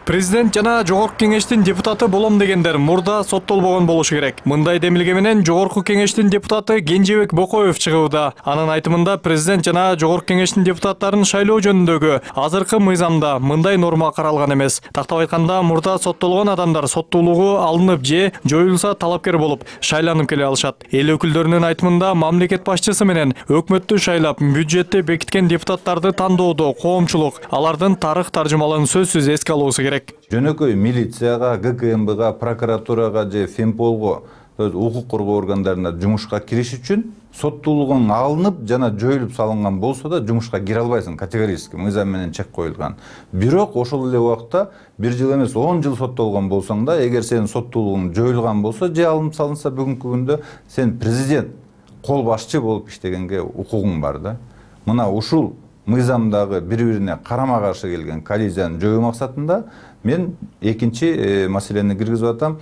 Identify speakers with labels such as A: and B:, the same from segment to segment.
A: Президент жана Жогорку Кеңештин депутаты болом дегендер мурда соттолбогон болушу керек. Мындай демилге менен Жогорку Кеңештин депутаты Кенжебек Бокоев чыгууда. Анын айтымында президент жана Жогорку Кеңештин депутаттарын шайлоо жөнүндөгү азыркы мыйзамда мындай норма каралган эмес. Тактап айтканда, мурда соттолгон адамдар соттуулугу алынып же жоюлса талапкер болуп шайланып келе алышат. Эл өкүлдөрүнүн айтымында, мамлекет башчысы менен өкмөттү шайлап, бюджетти бекиткен депутаттарды тандоодо коомчулук алардын тарых таржымалын сөзсүз эске алуусу керек.
B: Жөнөкөй милицияга, ГКМБга, прокуратурага же Фемполго, укук коргоо органдарына жумушка кириш үчүн соттуулугуң алынып жана жоюлуп салынган болсо да жумушка кире албайсың, категорически мыйзам менен чек коюлган. Бирок ошол эле убакта 1 жыл эмес 10 жыл соттолгон болсоң да, эгер сенин соттуулугуң жоюлган болсо же алынып салынса, бүгүнкү күндө сен президент, кол башчы болуп иштегенге укугуң бар да. Мына ушул мыйзамдагы бири-бирине карама-каршы келген коллизияны жоюу максатында мен экинчи маселени киргизип атам.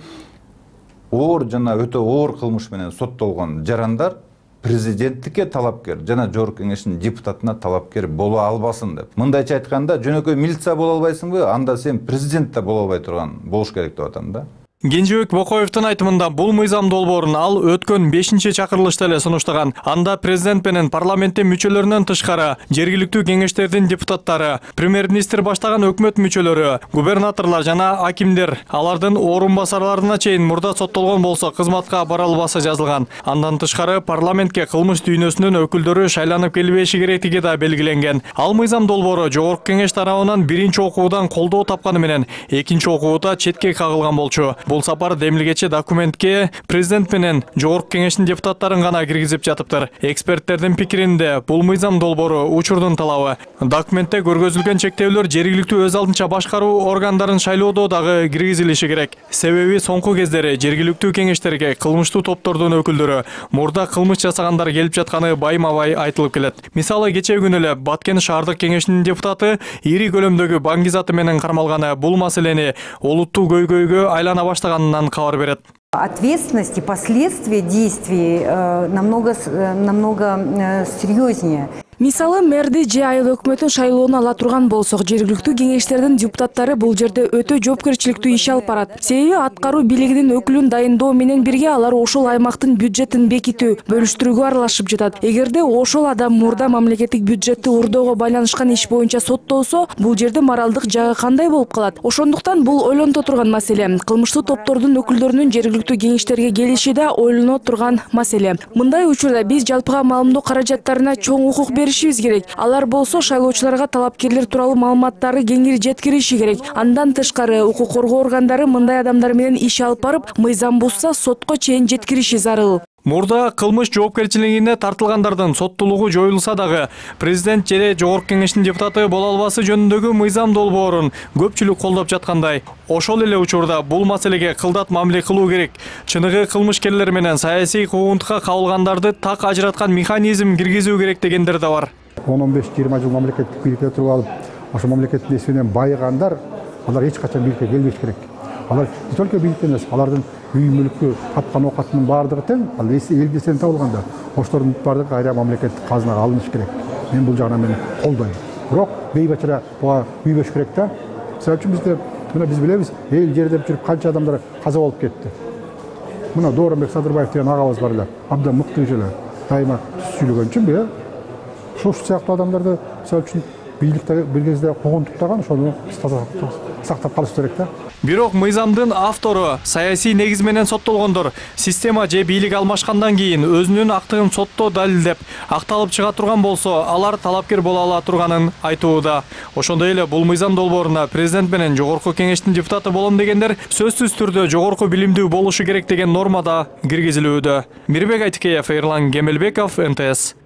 B: Оор жана өтө оор кылмыш менен соттолгон жарандар президенттикке талапкер жана Жогорку Кеңештин депутатына талапкер боло албасын деп. Мындайча айтканда, жөнөкөй милиция боло албайсыңбы? Анда сен президент да боло албай турган болуш керек деп атам да.
A: Кенжебек Бокоевдин айтымында, бул мыйзам долбоорун ал өткөн 5-чи чакырылышта эле сунуштаган. Анда президент менен парламенттин мүчөлөрүнөн тышкары жергиликтүү кеңештердин депутаттары, премьер-министр баштаган өкмөт мүчөлөрү, губернаторлор жана акимдер, алардын орун басарларына чейин мурда соттолгон болсо кызматка бара албасы жазылган. Андан тышкары парламентке кылмыш дүйнөсүнүн өкүлдөрү шайланып келбеши керектиги да белгиленген. Ал мыйзам долбоору Жогорку Кеңеш тарабынан биринчи окуудан колдоо тапканы менен экинчи окууда четке кагылган болчу. Бул сапар демилгечи документке президент менен Жогорку Кеңештин депутаттарын гана киргизип жатыптыр. Эксперттердин пикиринде, бул мыйзам долбоору учурдун талабы. Документте көргөзүлгөн чектөөлөр жергиликтүү өз алдынча башкаруу органдарын шайлоодо дагы киргизилиши керек. Себеби соңку кездери жергиликтүү кеңештерге кылмыштуу топтордун өкүлдөрү мурда кылмыш жасагандар келип жатканы байма-бай айтылып келет. Мисалы, кечээ күнү эле Баткен шаардык кеңешинин депутаты ири көлөмдөгү баңгизаты менен кармалганы бул маселени олуттуу көйгөйгө айлана баштаганынан кабар берет.
C: Ответственность и последствия действий намного серьезнее.
D: Мисалы, мэрди же айыл өкмөтүн шайлоону ала турган болсок, жергиликтүү кеңештердин депутаттары бул жерде өтө жоопкерчиликтүү иш алып барат. Себеби аткаруу бийлигинин өкүлүн дайындоо менен бирге алар ошол аймактын бюджетин бекитүү, бөлүштүрүүгө аралашып жатат. Эгерде ошол адам мурда мамлекеттик бюджетти урдоого байланышкан иш боюнча соттолсо, бул жерде моралдык жагы кандай болуп калат? Ошондуктан бул ойлонто турган маселе. Кылмыштуу топтордун өкүлдөрүнүн жергиликтүү кеңештерге келиши да ойлоно турган маселе. Мындай учурда биз жалпыга маалымдоо каражаттарына чоң укук беришибиз керек. Алар болсо шайлоочуларга талапкерлер тууралуу маалыматтарды кеңири жеткириши керек. Андан тышкары укук коргоо органдары мындай адамдар менен иш алып барып, мыйзам бузса сотко чейин жеткириши зарыл.
A: Мурда кылмыш жоопкерчилигине тартылгандардын соттуулугу жоюлса дагы, президент же Жогорку Кеңештин депутаты боло албасы жөнүндөгү мыйзам долбоорун көпчүлүк колдоп жаткандай. Ошол эле учурда бул маселеге кылдат мамиле кылуу керек. Чыныгы кылмышкерлер менен саясий куугунтукка кабылгандарды так ажыраткан механизм киргизүү керек дегендер да бар.
E: 10-15-20 жыл мамлекеттик бийликте туруп алып, ошо мамлекеттин эсебинен байыгандар, алар эч качан бийликке келбеш керек. Алар не только бийликте эмес, алардын үй мүлкү, тапкан оокатынын баардыгы тең, ал элди сен табылганда, ошолордун баардыгы кайра мамлекеттик казынага алыныш керек. Мен бул жагынан мен колдойм. Бирок бейбачара буга үйбөш керек да. Мисалы үчүн бизде, мына биз билебиз, эл жерде жүрүп канча адамдар каза болуп кетти. Мына Дооронбек Садырбаев деген агабыз бар эле, абдан мыкты эле, дайыма сүйлөгөн үчүнбү, ошол сыяктуу адамдарды мисалы үчүн бийликте бир кезде куугунтуктаган, ошону сактап калыш керек да.
A: Бирок мыйзамдын автору саясий негиз менен соттолгондор система же бийлик алмашкандан кийин өзүнүн актыгын сотто далилдеп, акталып чыга турган болсо, алар талапкер боло ала турганын айтууда. Ошондой эле бул мыйзам долбооруна президент менен Жогорку Кеңештин депутаты болом дегендер сөзсүз түрдө жогорку билимдүү болушу керек деген норма да киргизилүүдө. Мирбек Айтикеев, Эрлан Кемелбеков, НТС.